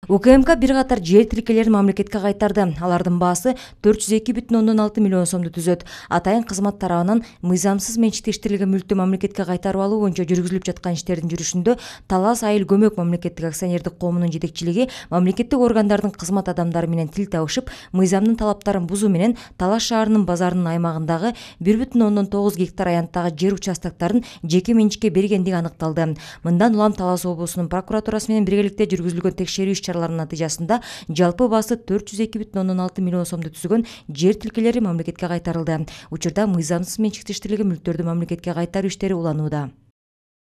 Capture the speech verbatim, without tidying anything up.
УКМК бир катар жер тилкелерин мамлекетке кайтарды. Алардын баасы төрт жүз эки бүтүн ондон алты миллион сомду түзөт. Атайын кызмат тарабынан мыйзамсыз менчиктештирилген мүлктү мамлекетке кайтарып алуу боюнча жүргүзүлүп жаткан иштердин жүрүшүндө Талас айыл көмөк мамлекеттик акционердик коомунун жетекчилиги мамлекеттик органдардын кызмат адамдары менен тил табышып, мыйзамдын талаптарын бузуу менен Талас шаарынын базарынын аймагындагы бир бүтүн ондон тогуз гектар аянттагы жер участоктарын жеке менчикке бергендиги аныкталды. Мындан улам Талас облусунун прокуратурасы менен биргеликте жүргүзүлгөн текшерүү иш-чараларынын натыйжасында жалпы баасы төрт жүз эки бүтүн ондон алты миллион сомду түзгөн жер тилкелери мамлекетке кайтарылды. Учурда мыйзамсыз менчиктештирилген мүлктөрдү мамлекетке кайтаруу иштери уланууда.